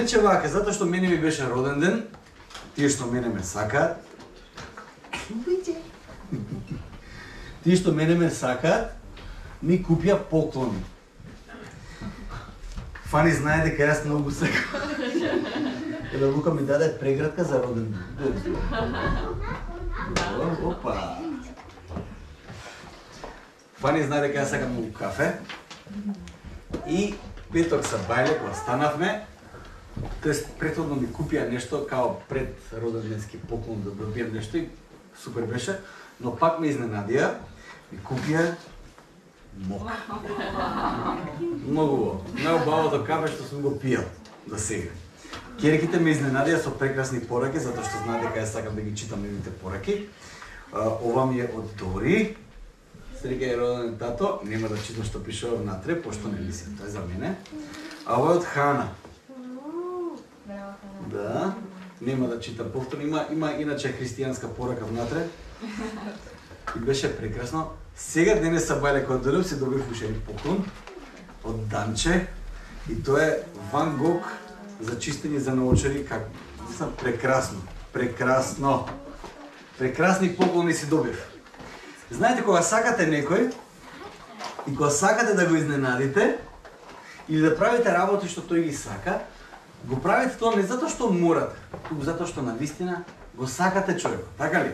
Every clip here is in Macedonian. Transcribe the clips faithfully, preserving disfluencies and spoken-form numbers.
рече вака, затоа што мене ми беше роден ден, тие што мене ме сакаат, тие што мене ме сакаат, ми купија поклони. Фани знае дека јас многу сакам. Еле Лука ми даде преградка за роден ден. Опа. Фани знае дека јас сакам многу кафе. И петок са бајле кога станавме, тоест претходно ми купија нешто као пред роденденски поклон да добијам нешто и супер беше, но пак ме изненадија, ми купија мок. Многу убаво. Најубавото кафе што сум го пијал за сега. Ќерките ме изненадија со прекрасни пораки, затоа што знаат дека јас сакам да ги читам нивните пораки. Ова ми е од Дори. Среќа е роден тато, нема да читам што пишува внатре, пошто не мислам, тоа е за мене. А ова е од Хана. Да, нема да читам повторно, има, има иначе христијанска порака внатре. И беше прекрасно. Сега денес са бајле кога дојдов си добив уште еден поклон од Данче и тоа е Ван Гог за чистење за наочари, како мислам прекрасно, прекрасно. Прекрасни поклони си добив. Знаете, кога сакате некој и кога сакате да го изненадите или да правите работи што тој ги сака, го правите тоа не затоа што морате, туку затоа што навистина го сакате човекот, така ли?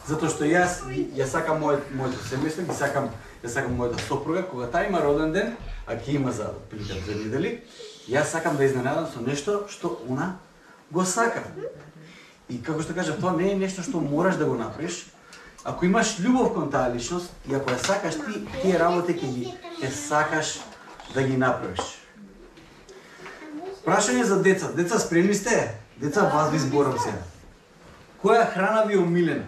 Затоа што јас ја сакам мојот моето семејство, ги сакам, ја сакам мојата сопруга, кога таа има роден ден, а ќе има за прилика две недели, јас сакам да изненадам со нешто што она го сака. И како што кажа, тоа не е нешто што мораш да го направиш. Ако имаш љубов кон таа личност и ако ја сакаш ти, тие работи ќе ги ќе сакаш да ги направиш. Прашање за деца. Деца, спремни сте? Деца, вас ви зборам сега. Која храна ви е омилена?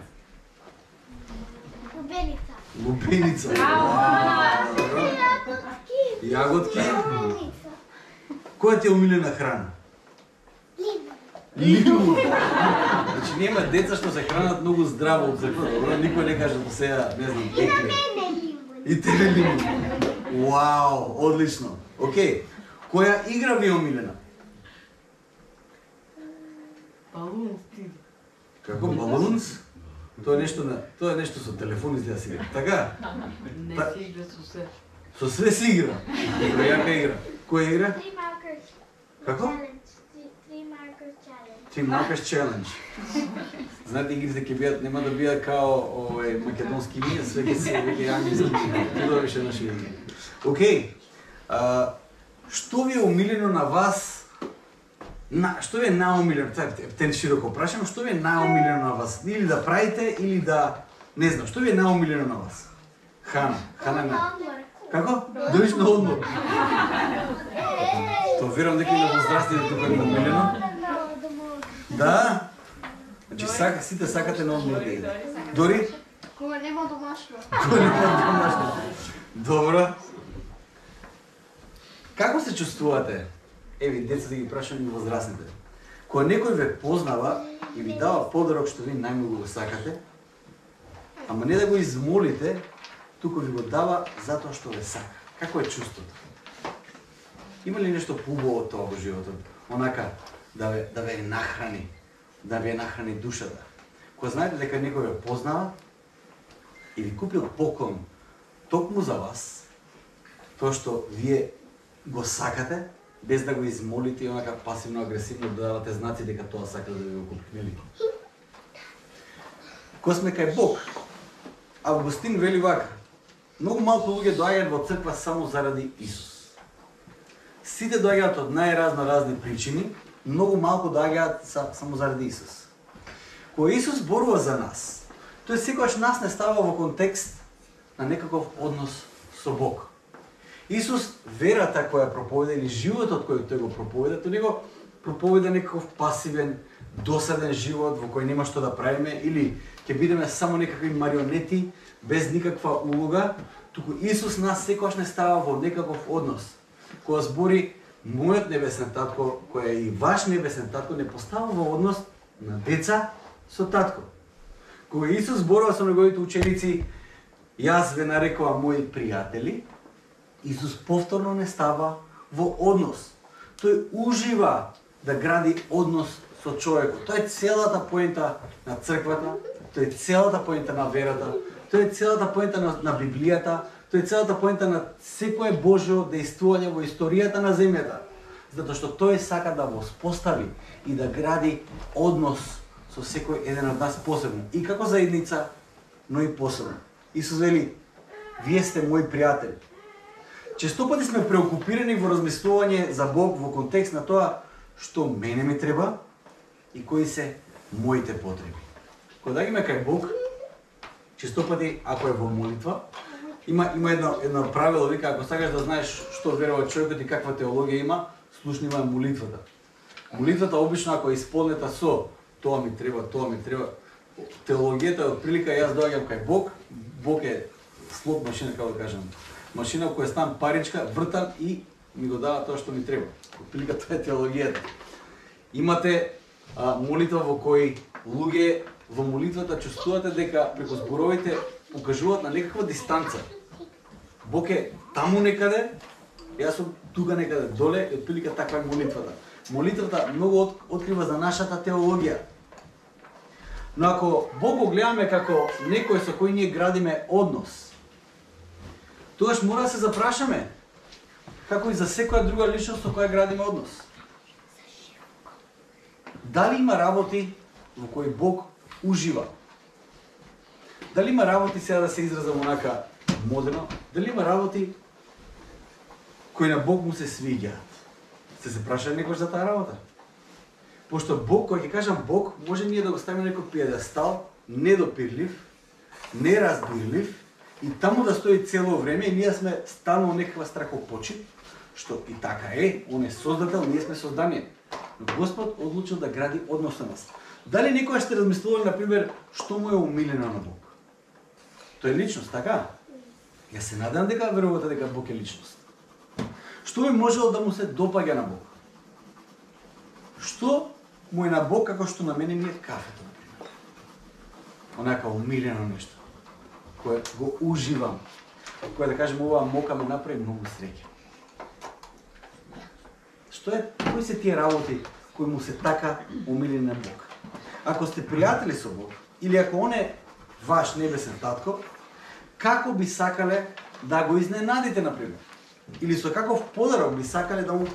Лубеница. Лубеница. Јаготки. Која ти е омилена храна? Лимун. Значи нема деца што се хранат многу здраво од секој, добро, никој не каже до сега, не знам, екле. И тебе лимун. Вау, одлично. Океј. Која игра ви е омилена? Балунс ти. Како балунс? Тоа е нешто на, тоа е нешто со телефон изгледа си игра. Така? Не се игра со се. Со све си игра. Добро, јака игра. Која игра? Three markers. Како? Challenge. Three markers challenge. Three Markers Challenge. Знаете, игрите ќе бидат, нема да бидат као овој македонски имиња, све ќе се веќе англиски имиња. Тоа беше наше имиње. Океј. А, што ви е омилено на вас? На, што ви е најомилено? Тоа е птен широко прашам, што ви е најомилено на вас? Или да правите, или да не знам, што ви е најомилено на вас? Хана, Хана не. Како? Доиш на одмор. Тоа верувам дека и на возрастните тука е омилено. Да? Значи сака, сите сакате на одмор да иде. Дори? Кога нема домашно. Кога нема домашно. Добро. Како се чувствувате? Еви, деца да ги прашам и возрастните. Кога некој ве познава и ви дава подарок што ви најмногу го сакате, ама не да го измолите, туку ви го дава затоа што ве сака. Како е чувството? Има ли нешто поубаво од тоа во животот? Онака, да ве, да ве нахрани, да ве нахрани душата. Кога знаете дека некој ве познава и ви купил поклон токму за вас, тоа што вие го сакате, без да го измолите и онака пасивно-агресивно да давате знаци дека тоа сака да ви го купи, нели? Кога сме кај Бог, Августин вели вака: многу малку луѓе доаѓаат во црква само заради Исус. Сите доаѓаат од најразно разни причини, многу малку доаѓаат само заради Исус. Кога Исус зборува за нас, тој секогаш нас не става во контекст на некаков однос со Бог. Исус, верата која проповеда или животот кој тој го проповеда, тој не го проповеда некаков пасивен, досаден живот во кој нема што да правиме или ќе бидеме само некакви марионети без никаква улога, туку Исус нас секогаш не става во некаков однос. Кога збори мојот небесен татко, кој е и ваш небесен татко, не постава во однос на деца со татко. Кога Исус зборува со неговите ученици, јас ве нарекувам мои пријатели, Исус повторно не става во однос. Тој ужива да гради однос со човекот. Тоа е целата поента на црквата, тоа е целата поента на верата, тоа е целата поента на, на Библијата, тоа е целата поента на секое Божјо дејствување во историјата на земјата. Затоа што тој сака да го спостави и да гради однос со секој еден од нас посебно. И како заедница, но и посебно. Исус вели, вие сте мои пријатели. Често пати сме преокупирани во размислување за Бог во контекст на тоа што мене ми треба и кои се моите потреби. Кога доаѓаме кај Бог, често пати, ако е во молитва, има има едно едно правило, вика, ако сакаш да знаеш што верува човекот и каква теологија има, слушни ма молитвата. Молитвата обично ако е исполнета со тоа ми треба, тоа ми треба, теологијата е отприлика јас доаѓам кај Бог, Бог е слот машина, како да кажам. Машина која стан паричка, вртам и ми го дава тоа што ми треба. Отприлика тоа е теологијата. Имате а, молитва во кој луѓе во молитвата чувствувате дека преку зборовите покажуваат на некаква дистанца. Бог е таму некаде, јас сум тука некаде доле, и отприлика таква е молитвата. Молитвата многу от, открива за нашата теологија. Но ако Бог го гледаме како некој со кој ние градиме однос, тогаш мора да се запрашаме, како и за секоја друга личност со која градиме однос. Дали има работи во кои Бог ужива? Дали има работи, сега да се изразам онака модерно, дали има работи кои на Бог му се свиѓаат? Сте се прашали некој за таа работа? Пошто Бог, кој ќе кажам Бог, може ние да го ставиме на некој пиедестал, недопирлив, неразбирлив, и таму да стои цело време и ние сме станува некаква страхопочит, што и така е, он е создател, ние сме создание. Но Господ одлучил да гради однос на нас. Дали некоја сте размислували, например, што му е умилено на Бог? Тој е личност, така? Јас се надам дека верувате дека Бог е личност. Што би можело да му се допаѓа на Бог? Што му е на Бог како што на мене ми е кафето, например? Онака умилено нешто, кое го уживам, кое да кажем оваа мока ме направи многу среќа. Што е, кои се тие работи кои му се така умилени на Бог? Ако сте пријатели со Бог, или ако он е ваш небесен татко, како би сакале да го изненадите, например? Или со каков подарок би сакале да му,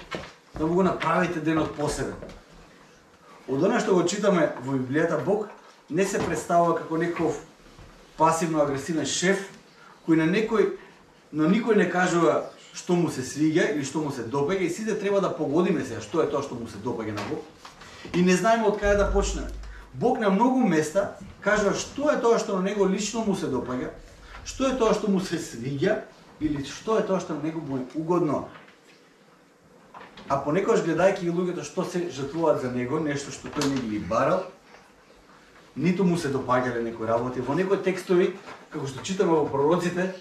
да му го направите денот посебен? Од она што го читаме во Библијата, Бог не се представува како некој пасивно-агресивен шеф, кој на некој, на никој не кажува што му се свиѓа или што му се допаѓа, и сите треба да погодиме сега што е тоа што му се допаѓа на Бог. И не знаеме од каде да почнеме. Бог на многу места кажува што е тоа што на него лично му се допаѓа, што е тоа што му се свиѓа или што е тоа што на него му е угодно. А понекогаш гледајќи ги луѓето што се жртвуваат за него, нешто што тој не ги барал, ниту му се допаѓале некои работи. Во некои текстови, како што читаме во пророците,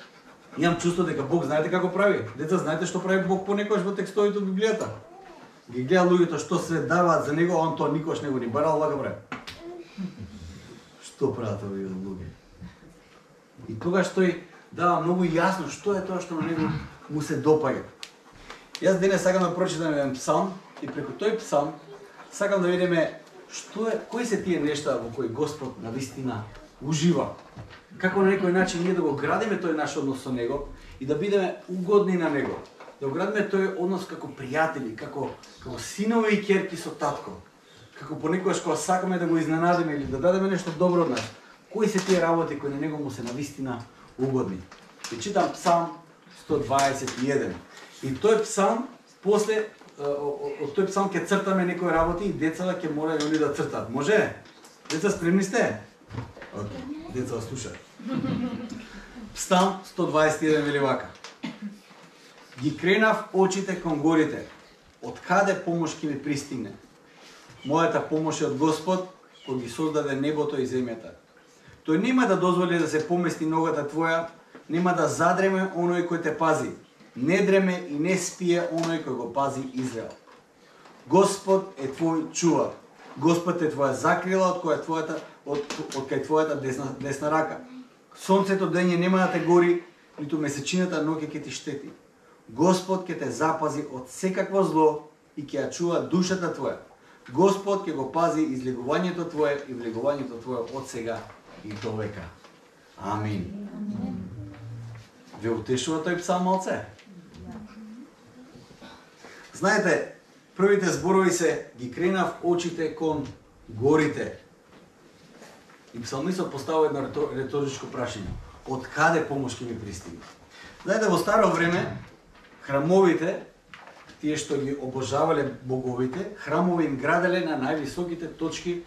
имам чувство дека Бог знаете како прави. Деца, знаете што прави Бог понекогаш во текстовите од Библијата? Ги гледа луѓето што се даваат за него, а он тоа никош не го ни барал, вака прави. Што прават овие луѓе? И тогаш тој дава многу јасно што е тоа што на него му се допаѓа. Јас денес сакам да прочитам еден псалм и преку тој псалм сакам да видиме што е, кои се тие нешта во кои Господ навистина ужива. Како на некој начин ние да го градиме тој наш однос со него и да бидеме угодни на него. Да го градиме тој однос како пријатели, како како синови и ќерки со татко. Како понекогаш кога сакаме да го изненадиме или да дадеме нешто добро од нас. Кои се тие работи кои на него му се навистина угодни? И читам Псалм сто дваесет и еден. И тој псалм, после, од тој псалм ќе цртаме некои работи и децата ќе мора и они да цртат. Може? Деца, спремни сте? Okay. Деца, слушаат. Псалм сто дваесет и еден вели вака. Ги кренав очите кон горите, од каде помош ќе ми пристигне? Мојата помош е од Господ, кој ги создаде небото и земјата. Тој нема да дозволи да се помести ногата твоја, нема да задреме оној кој те пази. Не дреме и не спие оној кој го пази Израел. Господ е твој чувар. Господ е твоја закрила од која твојата од, од кај твојата десна, десна рака. Сонцето дење нема да те гори, ниту месечината ноќе ќе ти штети. Господ ќе те запази од секакво зло и ќе ја чува душата твоја. Господ ќе го пази излегувањето твое и влегувањето твое од сега и до века. Амин. Ве утешува тој псалм малце? Знаете, првите зборови се ги кренав очите кон горите. И псалмистот поставува едно реторичко прашање. Од каде помош ќе ми пристигне? Знаете, во старо време, храмовите, тие што ги обожавале боговите, храмови им граделе на највисоките точки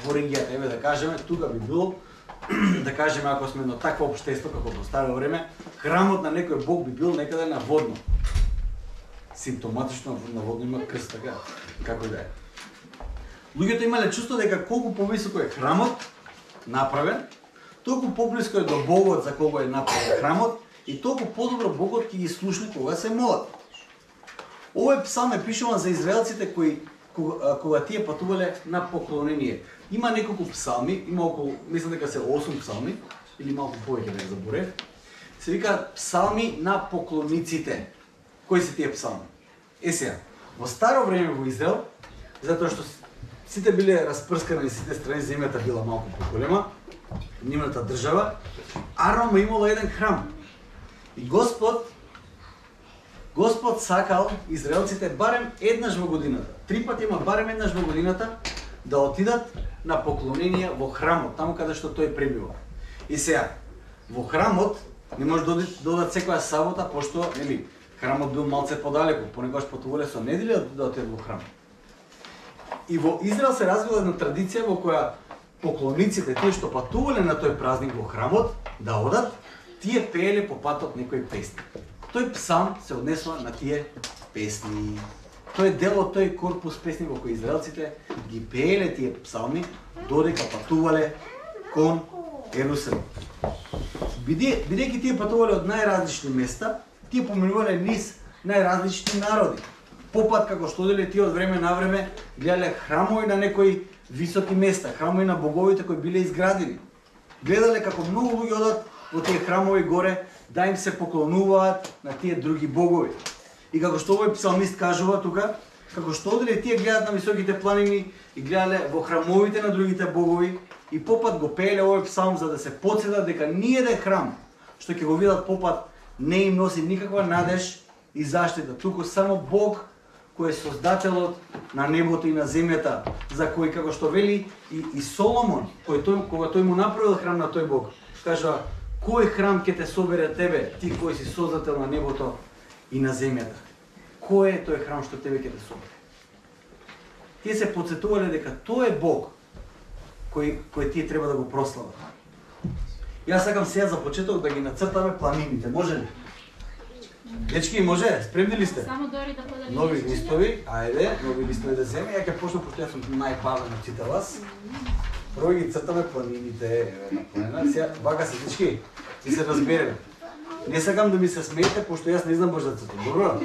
во регијата. Еве да кажеме, тука би било, да кажеме, ако сме на такво општество како во старо време, храмот на некој бог би бил некаде на водно. Симптоматично на водно има крст, така, како да е. Луѓето имале чувство дека колку повисоко е храмот направен, толку поблиско е до Богот за кого е направен храмот и толку подобро Богот ќе ги слушне кога се молат. Овој псалм е пишуван за израелците кои кога, кога тие патувале на поклонение. Има неколку псалми, има околу, мислам дека се осум псалми или малку повеќе, не заборев. Се викаат псалми на поклониците. Кои се тие псалми? Е сега, во старо време во Израел, затоа што сите биле распрскани на сите страни, земјата била малку поголема, нивната држава, Арам имало еден храм. И Господ Господ сакал израелците барем еднаш во годината, три пати има барем еднаш во годината, да отидат на поклонение во храмот, таму каде што тој пребива. И сега, во храмот не може да додат секоја сабота, пошто нели храмот бил малце подалеку, понекогаш патувале со недели да отидат во храм. И во Израел се развила една традиција во која поклониците, тие што патувале на тој празник во храмот, да одат, тие пееле по патот некои песни. Тој псалм се однесува на тие песни. Тој е дел од тој корпус песни во кој израелците ги пееле тие псалми додека патувале кон Ерусалим. Биде, бидејќи тие патувале од најразлични места, тие поминувале низ најразлични народи. Попат како што деле тие од време на време гледале храмови на некои високи места, храмови на боговите кои биле изградени. Гледале како многу луѓе одат во тие храмови горе да им се поклонуваат на тие други богови. И како што овој псалмист кажува тука, како што оделе тие гледат на високите планини и гледале во храмовите на другите богови и попат го пееле овој псалм за да се потсетат дека ниеден храм што ќе го видат попат не им носи никаква надеж и заштита, туку само Бог кој е создателот на небото и на земјата, за кој како што вели и, и Соломон, кој тој, кога тој му направил храм на тој Бог, кажа: кој храм ќе те собере тебе, ти кој си создател на небото и на земјата? Кој е тој храм што тебе ќе те собере? Тие се потсетувале дека тој е Бог кој кој тие треба да го прослават. Јас сакам сега за почеток да ги нацртаме планините, може ли? Дечки, може? Спремни ли сте? Само дори да поделим. Нови листови, ајде, нови листови да земе. Ја ќе почнам, пошто јас сум најбавен од сите вас. Прво ги цртаме планините, еве на планина. Сега, вака се дечки, и се разбереме. Не сакам да ми се смеете, пошто јас не знам баш да цртам, добро?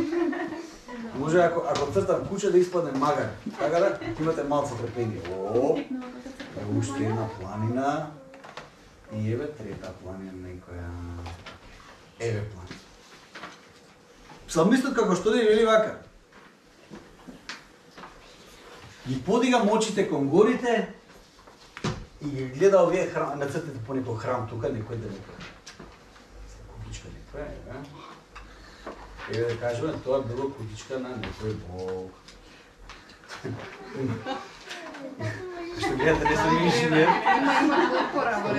Може ако, ако цртам куча да испадне магар, така да? Имате малце трпение. О, е уште една планина. И еве трета планина некоја. Еве планина. Псалмистот како што да вели вака: ги подигам очите кон горите и ги гледа овие храм, нацртите по некој храм тука, некој да некој. Кутичка некој, еве. Еве да кажеме, тоа било кутичка на некој бог. Што гледате, не сум инженер. Има, има отпора во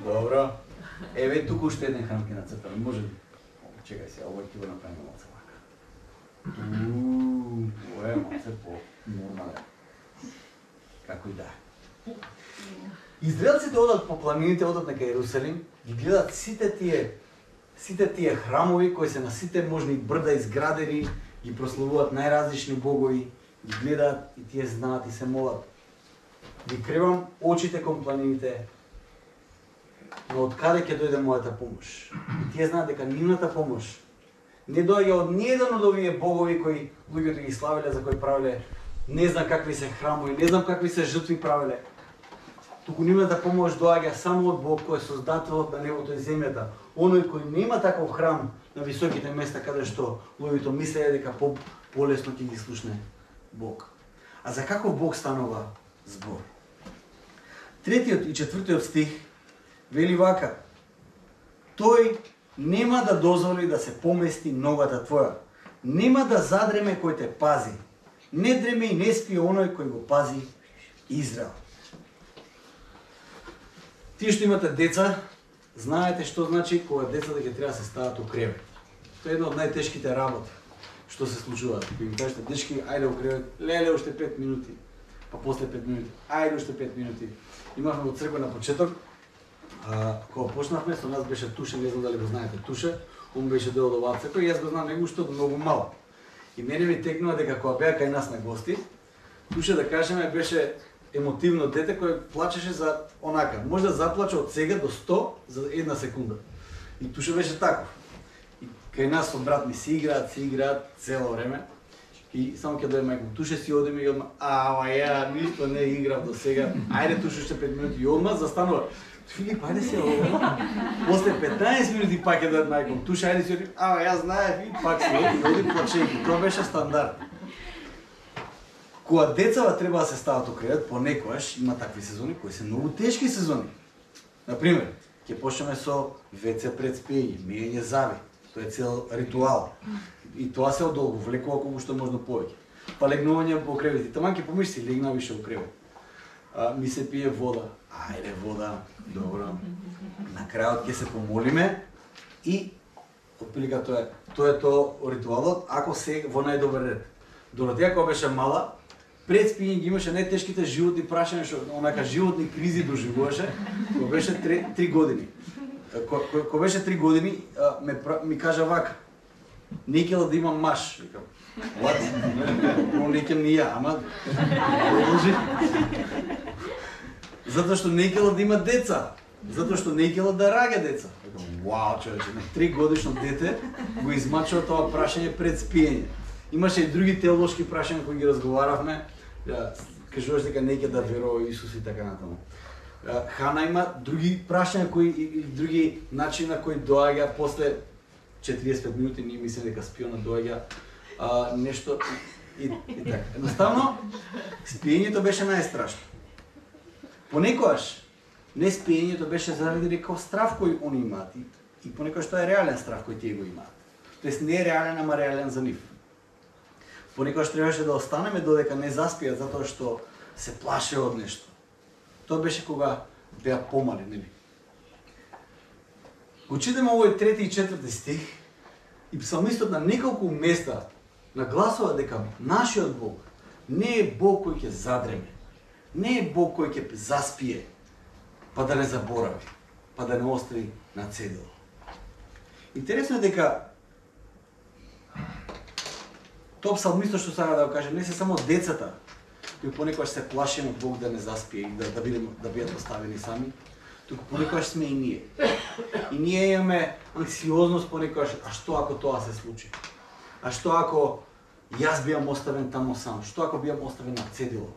Добро. Еве туку уште еден храм ќе нацртаме, може ли? Чекај се, ова ќе го направиме малце вака. Ууу, ова е малце по нормален. Како и да е. Израелците одат по планините, одат на Ерусалим, ги гледат сите тие сите тие храмови кои се на сите можни брда изградени, ги прославуваат најразлични богови, ги гледаат и тие знаат и се молат. Ги кревам очите кон планините, но од каде ќе дојде мојата помош? И тие знаат дека нивната помош не доаѓа од ниеден од овие богови кои луѓето ги славеле, за кои правеле не знам какви се храмови, не знам какви се жртви правеле. Туку нивната помош доаѓа само од Бог кој е создателот на небото и земјата. Оној кој нема таков храм на високите места каде што луѓето мислеја дека по полесно ќе ги слушне Бог. А за каков Бог станува збор? Третиот и четвртиот стих вели вака: тој нема да дозволи да се помести ногата твоја, нема да задреме кој те пази, не дреме и не спие оној кој го пази Израел. Тие што имате деца, знаете што значи кога децата ќе треба да се стават у кревет. Тоа е една од најтешките работи што се случуваат. Кога им кажете дечки, ајде у кревет, леле уште пет минути, па после пет минути, ајде уште пет минути. Имавме во црква на почеток, а, кога почнавме, со нас беше Туше, не знам дали го знаете Туше, он беше дел од оваа црква и јас го знам него уште од многу мал. И мене ми текнува дека кога беа кај нас на гости, Туше, да кажеме, беше емотивно дете кој плачеше за онака. Може да заплаче од сега до сто за една секунда. И Туше беше таков. И кај нас со брат ми си играат, си играат цело време. И само ќе дојде мајка, Туше си одиме и одма, ама ја ништо не играв до сега. Ајде Туше уште пет минути и одма застанува. Филип, ајде си одма. После петнаесет минути пак ќе дојде мајка, Туше ајде си оди. Ама јас знаев и пак си оди, оди плачејки. Тоа беше стандард. Кога децава треба да се стават у кревет, понекогаш има такви сезони кои се многу тешки сезони. Например, ќе почнеме со веце пред спиење, миење зави. Тоа е цел ритуал. И тоа се одолговлекува колку што можно повеќе. Па легнување по кревети. Таман ќе помисли, легна више у кревет. А, ми се пие вода. Ајде вода, добро. На крајот ќе се помолиме и отприлика тоа е. Тоа е тоа ритуалот, ако се во најдобар ред. Доротеја кога беше мала, пред спиење ги имаше најтешките животни прашања, што онака животни кризи доживуваше, кога беше три години. Кога беше три години, ме, ми кажа вака: не ќе да имам маш. Викам, what? Но не ќе ни ја, ама продолжи. Затоа што не ќе да има деца, затоа што не ќе да раѓа деца. Викам, вау, човече, на три годишно дете го измачува тоа прашање пред спиење. Имаше и други теолошки прашања кои ги разговаравме. Кажуваш дека не ќе да верува Исус и така натаму. Хана има други прашања кои и други начини на кои доаѓа после четириесет и пет минути, ние мислиме дека спиона доаѓа а, нешто и, и така. Едноставно, спиењето беше најстрашно. Понекогаш не спиењето беше заради некој страв кој они имаат и, и понекогаш тоа е реален страв кој тие го имаат. Тоест не е реален, ама реален за нив. Понекогаш требаше да останеме додека не заспиат затоа што се плаше од нешто. Тоа беше кога беа помали, нели? Го читаме овој трети и четврти стих и псалмистот на неколку места нагласува дека нашиот Бог не е Бог кој ќе задреме, не е Бог кој ќе заспие, па да не заборави, па да не остави на цедило. Интересно е дека тоа псалмистот што сака да го каже, не се само децата кои понекогаш се плашиме од Бог да не заспие и да, да, бидем, да бидат оставени сами, туку понекогаш сме и ние. И ние имаме анксиозност понекогаш, а што ако тоа се случи? А што ако јас биам оставен тамо сам? Што ако биам оставен на цедило?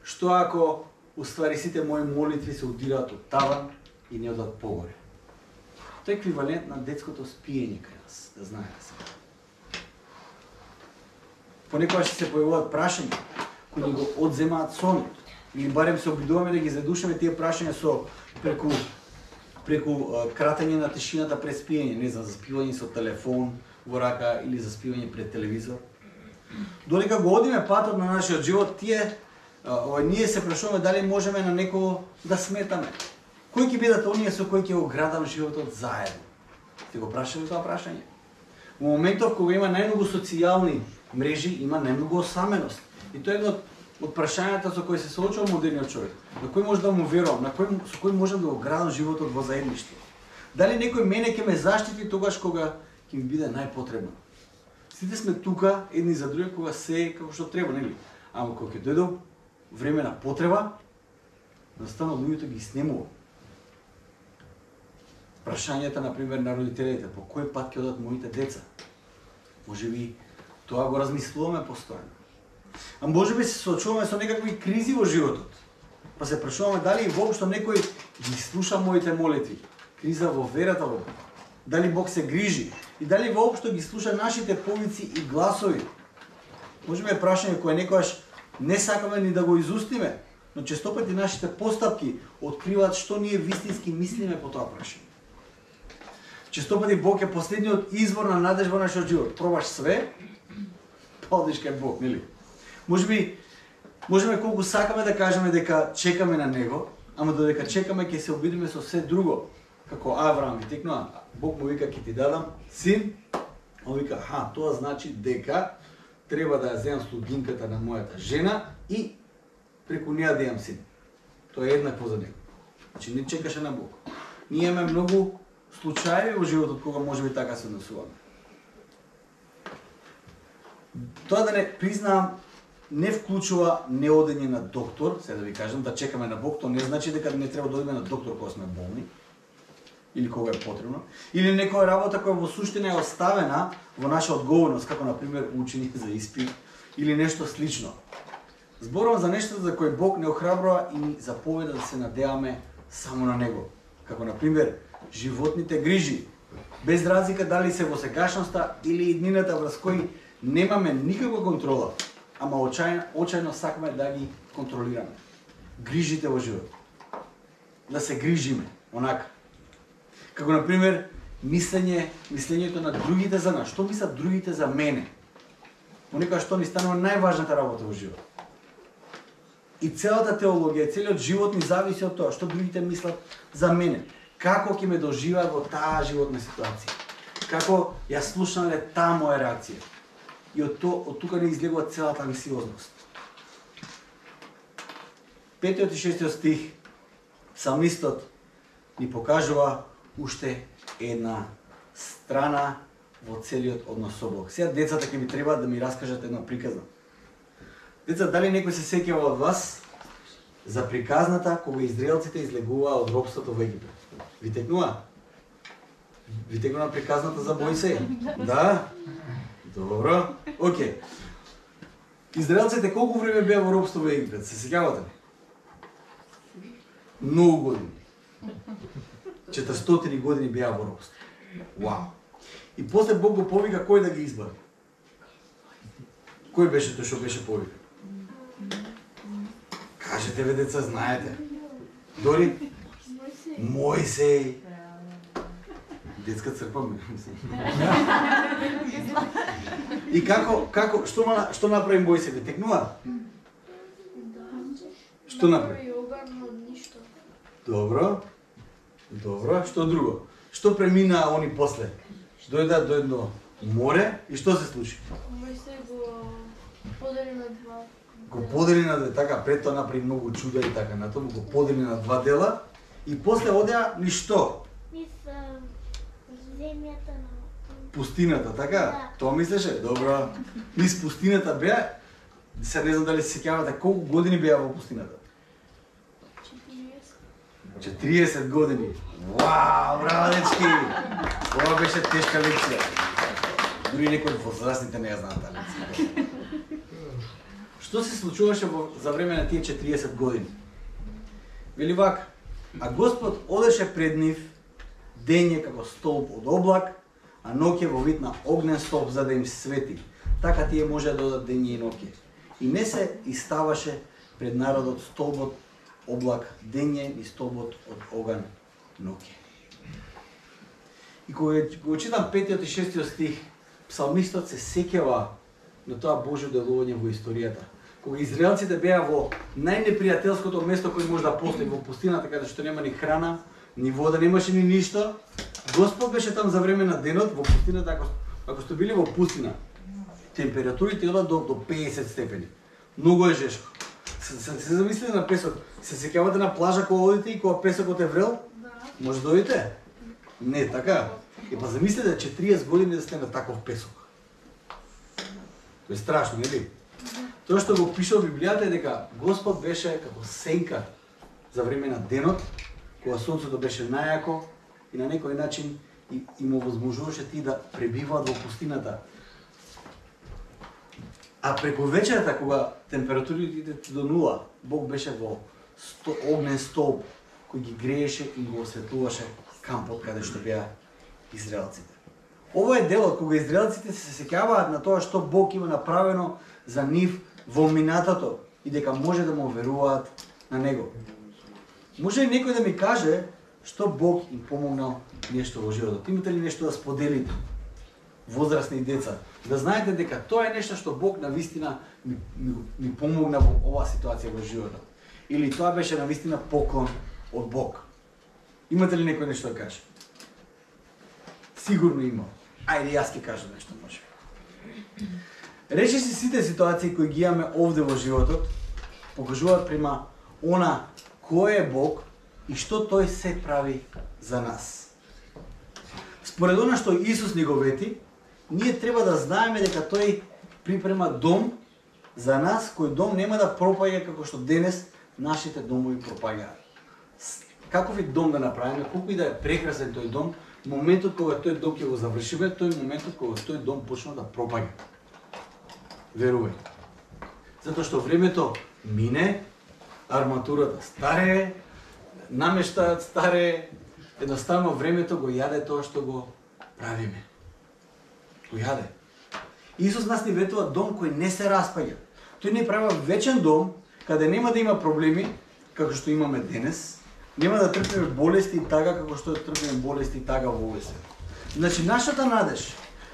Што ако уствари сите мои молитви се удираат од таван и не одат погоре? Тоа е еквивалент на детското спиење кај нас, да знаете се. Понекогаш се појавуваат прашања кои ни го одземаат сонот. Или барем се обидуваме да ги задушиме тие прашања со преку преку а, кратење на тишината пред спиење, не знам, за спивање со телефон во рака или за спивање пред телевизор. Додека го одиме патот на нашиот живот, тие а, ние се прашуваме дали можеме на некого да сметаме. Кои ќе бидат оние со кои ќе го градам животот заедно? Те го прашаме тоа прашање. Во моментов кога има најмногу социјални мрежи, има најмногу осаменост. И тоа е едно од прашањата со кои се соочува модерниот човек. На кој може да му верувам, на кој со кој можам да го градам животот во заедништво? Дали некој мене ќе ме заштити тогаш кога ќе ми биде најпотребно? Сите сме тука едни за други кога се како што треба, нели? Ама кога ќе дојде време на потреба, настану луѓето ги снемува. Прашањата, например, на родителите, по кој пат ќе одат моите деца? Можеби тоа го размислуваме постојано. А можеби се соочуваме со некакви кризи во животот. Па се прашуваме дали и воопшто некој ги слуша моите молитви. Криза во верата во Бог. Дали Бог се грижи и дали воопшто ги слуша нашите повици и гласови. Може би е прашање кое некојаш не сакаме ни да го изустиме, но често пати нашите постапки откриваат што ние вистински мислиме по тоа прашање. Често пати Бог е последниот извор на надежда во нашиот живот. Пробаш све, па одиш кај Бог, нели? Може би можеме колку сакаме да кажеме дека чекаме на Него, ама додека чекаме ќе се обидиме со се друго. Како Авраам ви текнува, Бог му вика ќе ти дадам син, он вика, ха, тоа значи дека треба да ја земам слугинката на мојата жена и преку неа да имам син. Тоа е еднакво за него. Значи не чекаше на Бог. Ние имаме многу случаи во животот кога може би така се однесуваме. Тоа да не признаам не вклучува неодење на доктор, се да ви кажам, да чекаме на Бог, тоа не значи дека не треба да одиме на доктор кога сме болни, или кога е потребно, или некоја работа која во суштина е оставена во наша одговорност, како например учење за испит, или нешто слично. Зборувам за нешто за кој Бог не охрабрува и ни заповеда да се надеваме само на Него, како например животните грижи, без разлика дали се во сегашноста или иднината врз кои немаме никаква контрола, ама очајно, очајно сакаме да ги контролираме. Грижите во живот. Да се грижиме, онака. Како например мислење, мислењето на другите за нас. Што мислат другите за мене? Понекогаш што ни станува најважната работа во живот. И целата теологија, целиот живот ни зависи од тоа што другите мислат за мене. Како ќе ме доживеат во таа животна ситуација? Како ја слушнале таа моја реакција? И од, то, од тука не излегува целата анксиозност. Петиот и шестиот стих, псалмистот ни покажува уште една страна во целиот однос со Бог. Сега децата ќе ми треба да ми раскажат една приказна. Деца, дали некој се сеќава од вас за приказната кога израелците излегуваа од робството во Египет? Ви текнува? Ви текнува приказната за Мојсей? Да? Добро. Океј. Израелците колку време беа во робство во Египет? Се сеќавате ли? Многу години. четиристотини години беа во робство. Вау. И после Бог го повика кој да ги избави. Кој беше тој што беше повика? Кажете ве деца, знаете. Дори Мојсей. Детска црква, мислам. И како, како, што, што направи Мојсей? Ве текнува? Што направи? Добро. Добро. Што друго? Што премина они после? Дојдат до едно море и што се случи? Мојсей го подели на два. Го подели на две, така, пред тоа направи многу чуда и така, на тоа го подели на два дела и после одеа ни што? Мислам, земјата на Пустината, така? Да. Тоа мислеше? Добро. Низ пустината беа, се не знам дали се сеќавате колку години беа во пустината? четириесет години. Вау, браво дечки! Ова беше тешка лекција. Дури некои од возрастните не ја знаат таа лекција. Што се случуваше во, за време на тие четириесет години? Вели вака, а Господ одеше пред нив дење како столб од облак, а ноќе во вид на огнен столб за да им свети. Така тие може да одат дење и ноќе. И не се иставаше пред народот столбот облак дење и столбот од оган ноќе. И кога го читам петиот и шестиот стих, псалмистот се сеќава на тоа Божјо делување во историјата. Кога израелците беа во најнепријателското место кој може да постои во пустината, каде што нема ни храна, ни вода, немаше ни ништо, Господ беше там за време на денот во пустината, ако, ако сте били во пустина. Температурите одат до, до педесет степени. Многу е жешко. Се, се, се замислите на песок. Се сеќавате на плажа кога одите и кога песокот е врел? Да. Може да одите? Не, така. И па замислете четириесет години да сте на таков песок. Тоа е страшно, нели? Тоа што го пише во Библијата е дека Господ беше како сенка за време на денот, кога сонцето беше најако и на некој начин и, и му возможуваше ти да пребиваат во пустината. А преку вечерта, кога температурите до нула, Бог беше во сто, огнен столб кој ги грееше и го осветлуваше кампот каде што беа израелците. Ова е делот кога израелците се сеќаваат на тоа што Бог има направено за нив во минатото и дека може да му веруваат на него. Може ли некој да ми каже што Бог им помогнал нешто во животот? Имате ли нешто да споделите? Возрастни деца, да знаете дека тоа е нешто што Бог навистина ми, ми, ми помогна во оваа ситуација во животот. Или тоа беше навистина поклон од Бог. Имате ли некој нешто да каже? Сигурно има. Ајде, јас ќе кажам нешто, може. Речи си сите ситуации кои ги имаме овде во животот, покажуваат према она кој е Бог и што тој се прави за нас. Според она што Исус ни го вети, ние треба да знаеме дека тој припрема дом за нас, кој дом нема да пропаѓа како што денес нашите домови пропаѓаат. Каков вид дом да направиме, колку и да е прекрасен тој дом, моментот кога тој дом ќе го завршиме, тој моментот кога тој дом почна да пропаѓа. Верувај. Затоа што времето мине, арматурата старее, намештаат старее, едноставно времето го јаде тоа што го правиме. Го јаде. Исус нас ни ветува дом кој не се распаѓа. Тој ни прави вечен дом, каде нема да има проблеми, како што имаме денес, нема да трпиме болести така како што трпиме болести така во овој свет. Значи, нашата надеж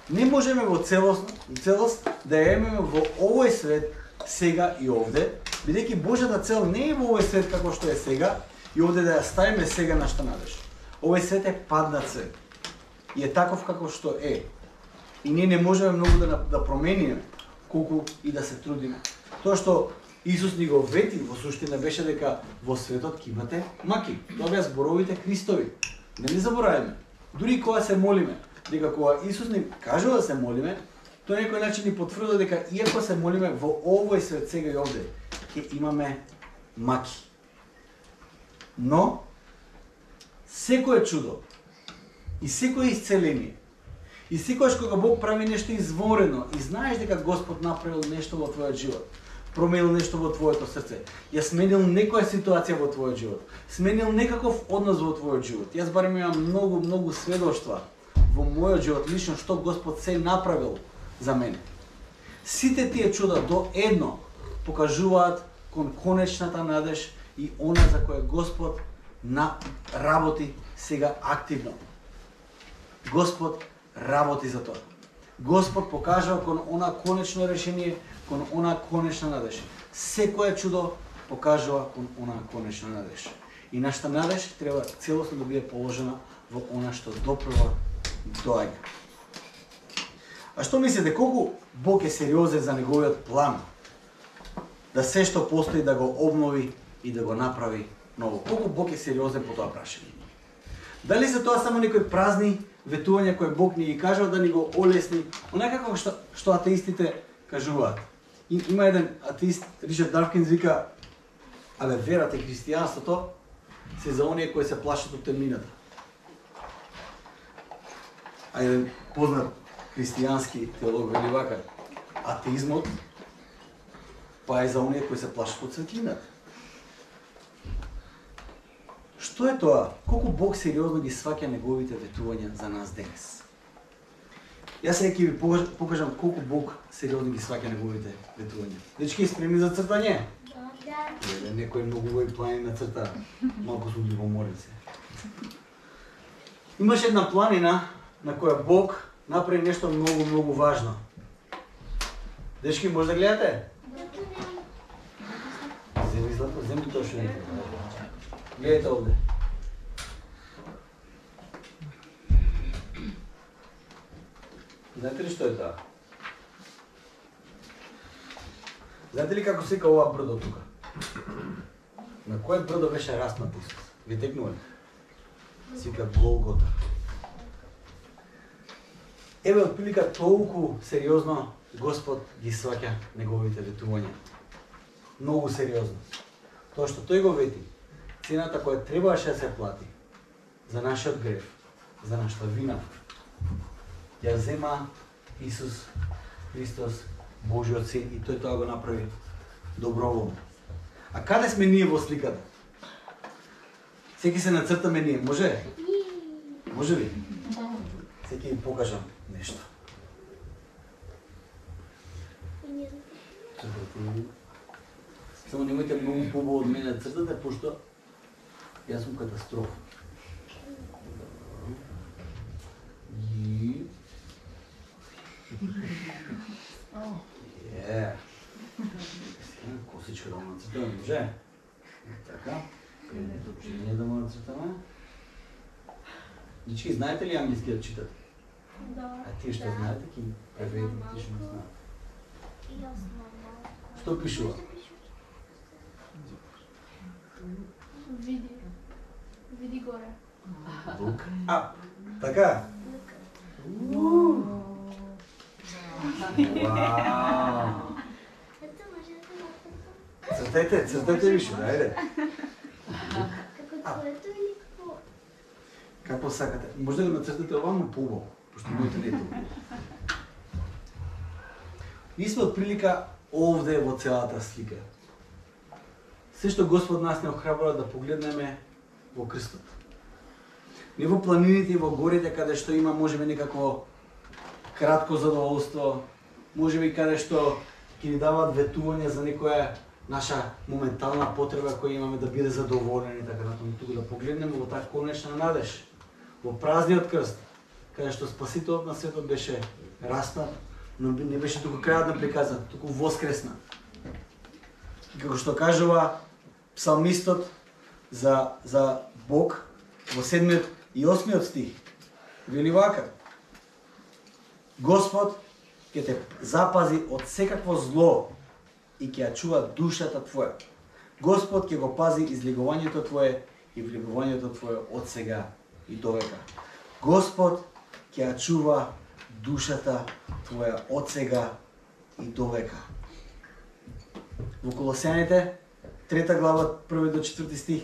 не можеме во целост, целост да ја имаме во овој свет сега и овде, бидејќи Божјата цел не е во овој свет како што е сега и овде да ја ставиме сега нашата надеж. Овој свет е паднат свет и е таков како што е. И ние не можеме многу да, да промениме колку и да се трудиме. Тоа што Исус ни го вети во суштина беше дека во светот ќе имате маки. Тоа беа зборовите Христови. Не ни забораваме. Дури кога се молиме, дека кога Исус ни кажува да се молиме, тој некој начин ни потврдува дека иако се молиме во овој свет сега и овде, ќе имаме маки. Но секое чудо и секое исцеление и секогаш кога Бог прави нешто изворено и знаеш дека Господ направил нешто во твојот живот, променил нешто во твоето срце, ја сменил некоја ситуација во твојот живот, сменил некаков однос во твојот живот. Јас барем имам многу, многу сведоштва во мојот живот лично што Господ се направил за мене. Сите тие чуда до едно покажуваат кон конечната надеж и она за која Господ на работи сега активно. Господ работи за тоа. Господ покажува кон она конечно решение, кон она конечна надеж. Секое чудо покажува кон она конечна надеж. И нашата надеж треба целосно да биде положена во она што допрва доаѓа. А што мислите, колку Бог е сериозен за неговиот план да се што постои да го обнови и да го направи ново? Колку Бог е сериозен по тоа прашање? Дали се тоа само некои празни ветувања кои Бог ни ги кажува да ни го олесни, онака како што, што атеистите кажуваат? И, има еден атеист, Ричард Давкинс, вика: абе, верата и христијанството се за оние кои се плашат од темнината. А еден познат христијански теолог вели вака: атеизмот па е за оние кои се плашат од светлината. Што е тоа? Колку Бог сериозно ги сваќа неговите ветувања за нас денес? Јас сега ќе ви покажам колку Бог сериозно ги сваќа неговите ветувања. Дечки, спремни за цртање? Да. Еве, некој многу убави плани на црта. Малку сум ги поморил се. Имаше една планина на која Бог направи нешто многу, многу важно. Дечки, може да гледате? Земи злато, земи тоа што е. Гледайте овде. Знаете ли што е тоа? Знаете ли како се вика ова брдо тука? На кое брдо беше распнат Исус? Ви текнува ли? Се вика Голгота. Еве, отприлика толку сериозно Господ ги сваќа неговите ветувања. Многу сериозно. Тоа што тој го вети, цената која требаше да се плати за нашиот грев, за нашата вина, ја зема Исус Христос, Божиот Син, и тој тоа го направи доброволно. А каде сме ние во сликата? Секи се нацртаме ние, може? Може ли? Сега ќе ви покажам нешто. Чекайте. Само немојте многу побо од мене цртате, пошто јас сум катастрофа. И... Е. Косичка да му нацртаме, може? Така. Предупреждение да му нацртаме. Дички, знаете ли англиски да читате? Да. А тие што знаете, ки преведите, ти што не знаат. И јас нормално. Што пишува? Види. Види горе. Look up. Така? Вау! Ето може да се Цртете, цртете више, ајде. како твоето или какво? Како сакате. Може да го нацртате овамо поубаво, пошто моите не е толку. Ние сме отприлика овде во целата слика. Се што Господ нас не охрабрува да погледнеме во крстот. Не во планините и во горите каде што има можеби некако кратко задоволство, можеби каде што ќе ни даваат ветување за некоја наша моментална потреба која имаме да биде задоволени и така натаму, туку да погледнеме во таа конечна надеж, во празниот крст, каде што Спасителот на светот беше распнат, но не беше туку крајот на приказната, туку воскресна. И како што кажува псалмистот за за Бог во седмиот и осмиот стих, вели вака: Господ ќе те запази од секакво зло и ќе ја чува душата твоја. Господ ќе го пази излегувањето твое и влегувањето твое од сега и довека. Господ ќе ја чува душата твоја од сега и довека. Во Колосјаните, трета глава, први до четврти стих,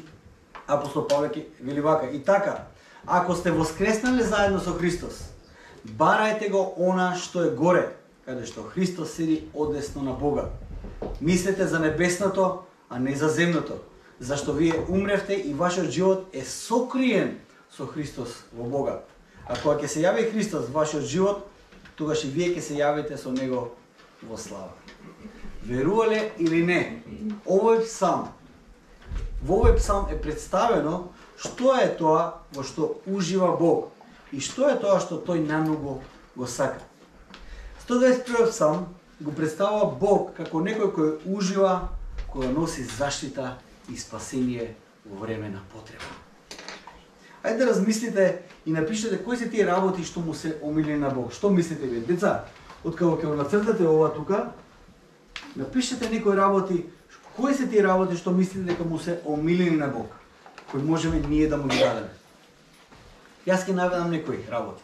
апостол Павле ќе вели вака: и така, ако сте воскреснали заедно со Христос, барајте го она што е горе, каде што Христос седи одесно на Бога. Мислете за небесното, а не за земното, зашто вие умревте и вашиот живот е сокриен со Христос во Бога. А кога ќе се јави Христос во вашиот живот, тогаш и вие ќе се јавите со Него во слава. Верувале или не, овој псалм, во овој псалм е представено што е тоа во што ужива Бог и што е тоа што тој најмногу го сака. сто дваесет и први псалм го представува Бог како некој кој ужива, кој носи заштита и спасение во време на потреба. Ајде да размислите и напишете кои се тие работи што му се омилени на Бог. Што мислите вие, деца? Откако ќе го нацртате ова тука, напишете некои работи, кои се тие работи што мислите дека му се омилени на Бог, кои можеме ние да му ги дадеме. Јас ќе наведам некои работи.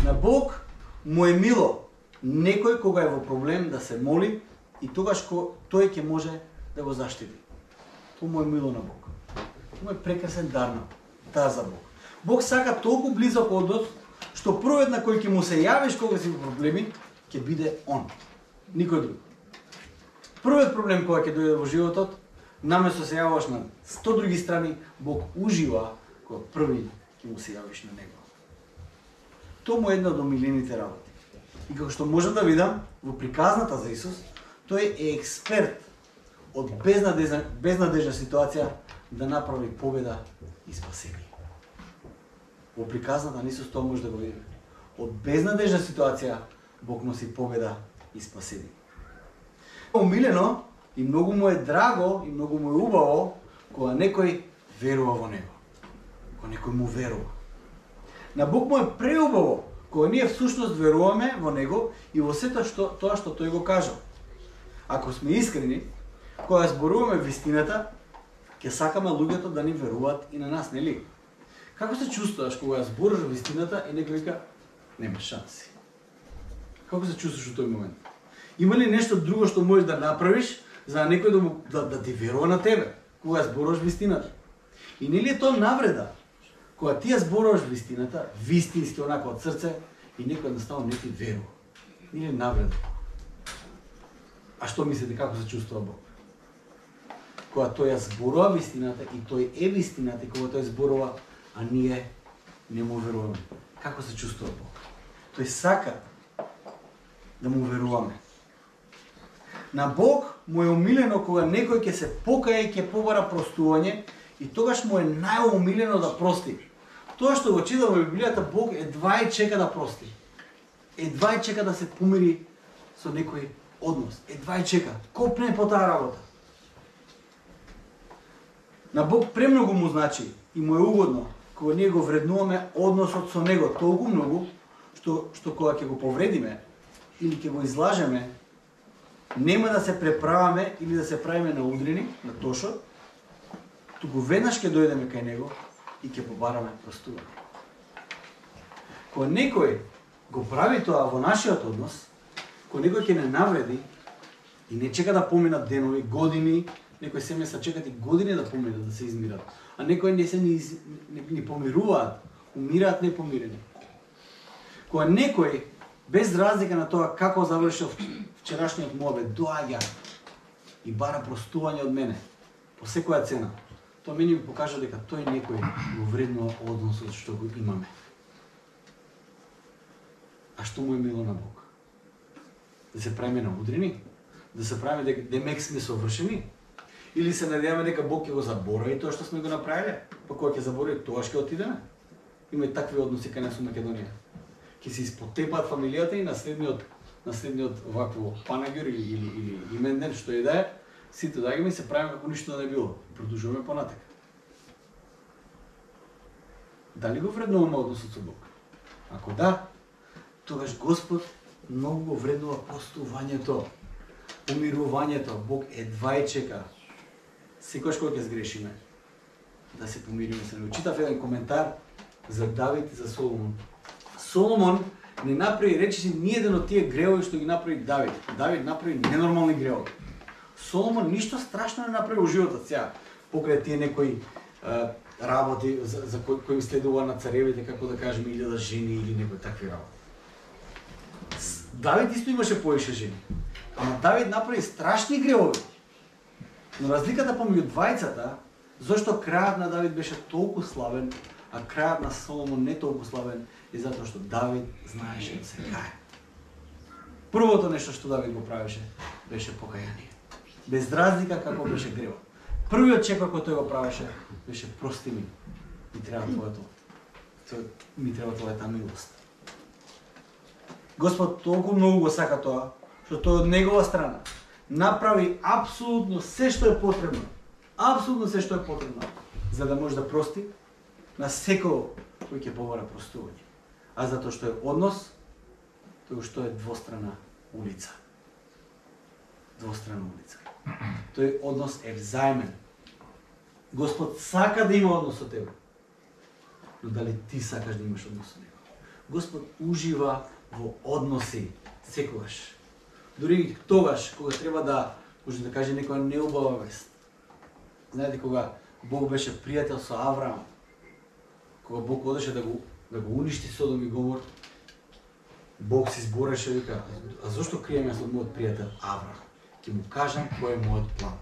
На Бог му е мило некој кога е во проблем да се моли и тогаш ко тој ќе може да го заштити. Тоа му е мило на Бог. Тоа е прекрасен дар на таа за Бог. Бог сака толку близок однос што првиот на кој ќе му се јавиш кога си во проблеми ќе биде он, никој друг. Првиот проблем кога ќе дојде во животот, наместо се јаваш на сто други страни, Бог ужива кога први ќе му се јавиш на него. Тоа му е една од омилените работи. И како што можам да видам во приказната за Исус, тој е експерт од безнадежна, безнадежна ситуација да направи победа и спасение. Во приказната на Исус тоа може да го видиме. Од безнадежна ситуација Бог носи победа и спасение. Омилено и многу му е драго и многу му е убаво кога некој верува во него. Кога некој му верува. На Бог му е преубаво кога ние всушност веруваме во него и во сето што тоа што тој го кажа. Ако сме искрени, кога зборуваме вистината, ќе сакаме луѓето да ни веруваат и на нас, нели? Како се чувствуваш кога зборуваш вистината и некој вика нема шанси? Како се чувствуваш во тој момент? Има ли нешто друго што можеш да направиш за некој да, му, да, да ти верува на тебе кога зборуваш вистината? И нели е тоа навреда? Кога ти ја зборуваш вистината, вистински онака од срце, и некој едноставно не ти верува. Нели навреда? А што мислите како се чувствува Бог? Кога тој ја зборува вистината и тој е вистината и кога тој зборува, а ние не му веруваме. како се чувствува Бог. Тој сака да му веруваме. На Бог му е умилено кога некој ќе се покае и ќе побара простување и тогаш му е најумилено да прости. Тоа што го читам во Библијата, Бог едва и чека да прости. Едва и чека да се помири со некој однос. Едва и чека. Копне по таа работа. На Бог премногу му значи и му е угодно кога ние го вреднуваме односот со Него толку многу, што, што кога ќе го повредиме или ќе го излажеме, нема да се преправаме или да се правиме наудрени на тошот, туку веднаш ќе дојдеме кај Него и ќе побараме простување. Кога некој го прави тоа во нашиот однос, кога некој ќе не навреди и не чека да поминат денови, години, некои семејства чекат и години да поминат, да се измират, а некои не се ни, из... не, ни помируваат, умираат непомирени. Кога некој, без разлика на тоа како завршил вчерашниот му обед, доаѓа и бара простување од мене, по секоја цена, тоа мене ми покажа дека тој некој го вреднува односот што го имаме. А што му е мило на Бог? Да се правиме наудрени? Да се правиме дека демек сме совршени? Или се надеваме дека Бог ќе го заборави тоа што сме го направиле? Па кога ќе заборави, тоа ќе отидеме? Има и такви односи кај нас во Македонија. Ќе се испотепаат фамилијата и наследниот наследниот вакво панагир или или, или имен ден што и да е, сите доаѓаме и се правиме како ништо да не било. Продолжуваме понатака. Дали го вреднуваме односот со Бог? Ако да, тогаш Господ многу го вреднува простувањето, помирувањето. Бог едва и чека секогаш кога ќе сгрешиме да се помириме се. Читав еден коментар за Давид и за Соломон. Соломон не направи, речиси, ни еден од тие гревови што ги направи Давид. Давид направи ненормални гревови. Соломон ништо страшно не направи во животот сега. Покрај тие некои е, работи за, за кои, кои следува на царевите, како да кажеме, илјада жени или некои такви работи. Давид исто имаше повеќе жени. Ама Давид направи страшни гревови. Но разликата помеѓу двајцата, зашто крајот на Давид беше толку славен, а крајот на Соломон не толку славен, е затоа што Давид знаеше да се кае. Првото нешто што Давид го правеше беше покаяние. Без разлика како беше гревот. Првиот чекор кој тој го правеше беше прости ми. Ми треба твоето. Ми треба твојата милост. Господ толку многу го сака тоа, што тој од негова страна направи апсолутно се што е потребно. Апсолутно се што е потребно, за да може да прости на секој кој ќе побара простување. А затоа што е однос, тоа што е двострана улица. Двострана улица. Тој однос е взаимен. Господ сака да има однос со тебе. Но дали ти сакаш да имаш однос со него? Господ ужива во односи секогаш. Дури тогаш кога треба да, може да каже некоја неубава вест. Знаете кога Бог беше пријател со Авраам, кога Бог одеше да го да го уништи Содом и Гомор, Бог се збореше и вика: а зошто криеме со мојот пријател Авраам? Ќе му кажам кој е мојот план.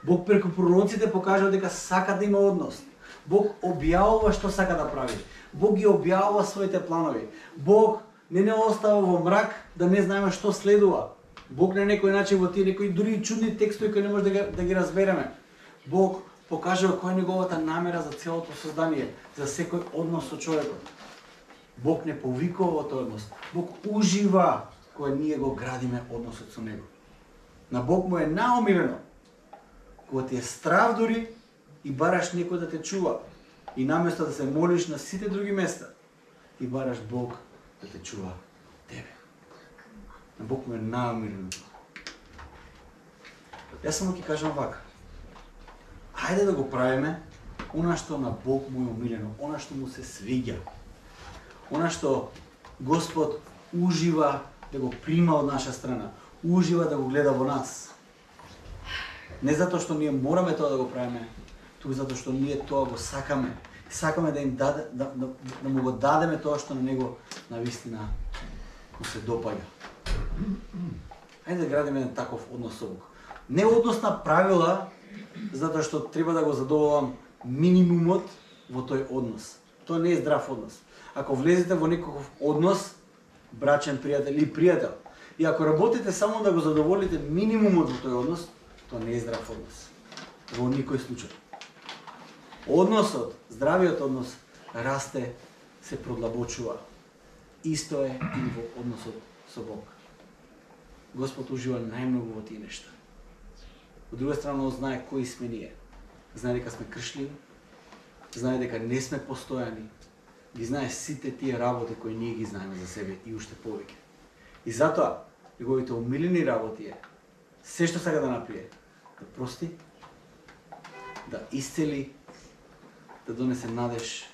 Бог преку пророците покажа дека сака да има однос. Бог објавува што сака да прави. Бог ги објавува своите планови. Бог не не остава во мрак да не знаеме што следува. Бог на некој начин во тие некои дури чудни текстови кои не може да ги, да ги разбереме. Бог покажува која е неговата намера за целото создание, за секој однос со човекот. Бог не повикува во тој однос. Бог ужива кога ние го градиме односот со него. На Бог му е наумилено кога ти е страв дури и бараш некој да те чува. И наместо да се молиш на сите други места, и бараш Бог да те чува тебе. На Бог му е наумилено. Јас само ќе кажам вака. Хајде да го правиме она што на Бог му е умилено, она што му се свиѓа. Она што Господ ужива да го прима од наша страна, ужива да го гледа во нас. Не затоа што ние мораме тоа да го правиме, туку затоа што ние тоа го сакаме. Сакаме да им даде, да, да, да му го дадеме тоа што на него навистина му се допаѓа. Хајде да градиме еден таков однос со Бог. Не однос на правила, затоа што треба да го задоволам минимумот во тој однос. Тоа не е здрав однос. Ако влезете во некаков однос, брачен пријател или пријател, и ако работите само да го задоволите минимумот во тој однос, тоа не е здрав однос. Во никој случај. Односот, здравиот однос, расте, се продлабочува. Исто е и во односот со Бог. Господ ужива најмногу во тие нешта. Од друга страна, Он знае кои сме ние. Знае дека сме кршливи, знае дека не сме постојани, ги знае сите тие работи кои ние ги знаеме за себе и уште повеќе. И затоа, неговите омилени работи е, се што сака да направи, да прости, да исцели, да донесе надеж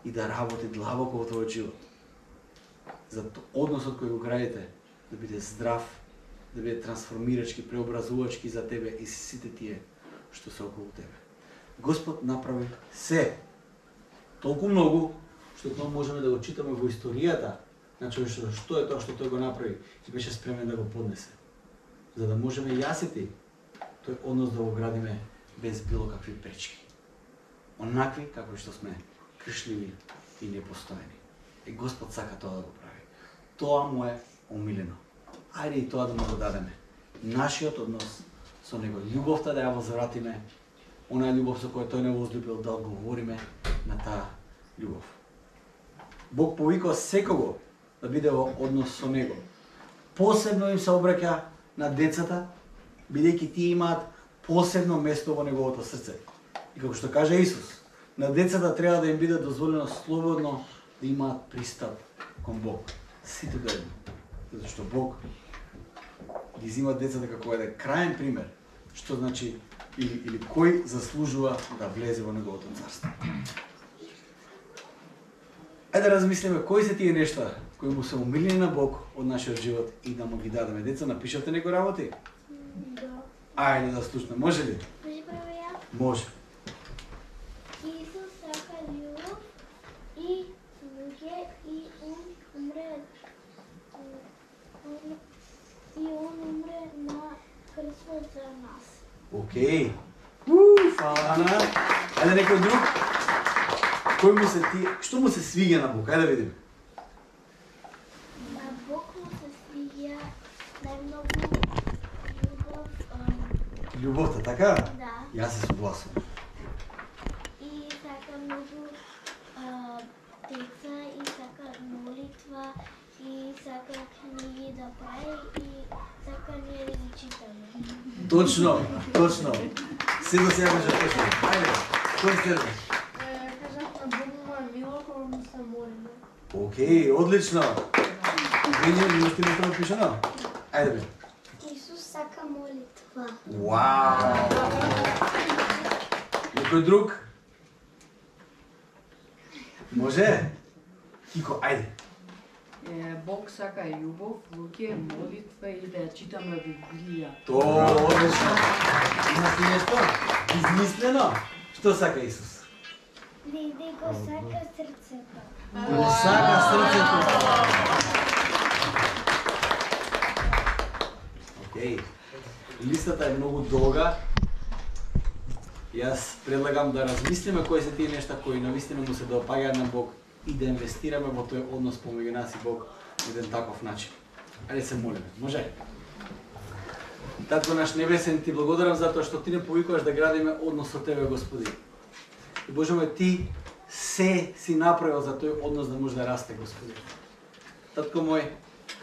и да работи длабоко во твојот живот. За односот кој го градите, да биде здрав, да биде трансформирачки, преобразувачки за тебе и сите тие што се околу тебе. Господ направи се толку многу, што тоа можеме да го читаме во историјата на човештвото, што е тоа што тој го направи и беше спремен да го поднесе. За да можеме јас и ти тој однос да го градиме без било какви пречки. Онакви како што сме кршливи и непостојани. И Господ сака тоа да го прави. Тоа му е омилено. Ајде и тоа да му го дадеме. Нашиот однос со него, љубовта да ја возвратиме, онаа љубов со која тој не возлюбил, да одговориме на таа љубов. Бог повикува секого да биде во однос со него. Посебно им се обраќа на децата, бидејќи тие имаат посебно место во неговото срце. И како што каже Исус, на децата треба да им биде дозволено слободно да имаат пристап кон Бог. Сите до едно. Затоа што Бог ги зима децата како еден крајен пример, што значи или, или кој заслужува да влезе во неговото царство. Ајде да размислиме кои се тие нешта кои му се омилени на Бог од нашиот живот и да му ги дадеме. Деца, напишете некои работи? Да. Ајде да слушаме. Може ли? Може прави ја? Може. Исус сака љубов и луѓе и он умре он, и он умре на крстот за нас. Океј. Уу, фала Ана. Ајде некој друг? Кој му се ти, што му се свиѓа на Бог? Ајде да видиме. На Бог му се свиѓа најмногу љубов, ам, Љубовта, така? да, Јас се согласувам. и сака многу а, деца, и сака молитва, и сака книги да прави, и сака ние да ги читаме. Точно, точно. Се до сега беше точно. Ајде, кој следва? Кажат на Бог му е мило кога му се молиме. Океј, одлично. Веќе ми сте тоа пишано? Ајде бе. Исус сака молитва. Вау! Некој друг? Може? Кико, ајде. Е, Бог сака љубов, луѓе, молитва и да ја читаме Библија. Тоа, одлично. Имате нешто? Измислено? Што сака Исус? Да го сака срцето. Да не сака срцето. Океј. Листата е многу долга. Јас предлагам да размислиме кои се тие нешта кои навистина му се допаѓаат на Бог и да инвестираме во тој однос помеѓу нас и Бог на еден таков начин. Ајде се молиме. Може? Татко наш небесен, ти благодарам за тоа што ти не повикуваш да градиме однос со тебе, Господи. И Боже мој, ти се си направил за тој однос да може да расте, Господи. Татко мој,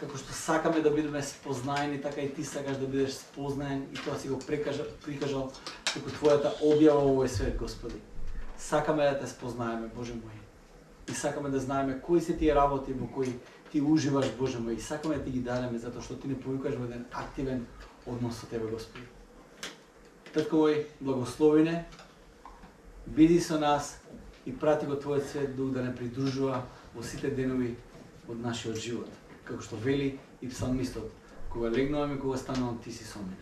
како што сакаме да бидеме спознаени, така и ти сакаш да бидеш спознаен и тоа си го прикажал, прикажал како твојата објава во овој свет, Господи. Сакаме да те спознаеме, Боже мој. И сакаме да знаеме кои се тие работи во кои ти уживаш, Боже мој. И сакаме да ти ги дадеме затоа што ти не повикаш во еден активен однос со тебе, Господи. Татко мој, благослови не, биди со нас и прати го твојот свет дух да не придружува во сите денови од нашиот живот. Како што вели и псалмистот, кога легнувам и кога станувам, ти си со мене.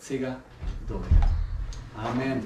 Сега до века. Амен.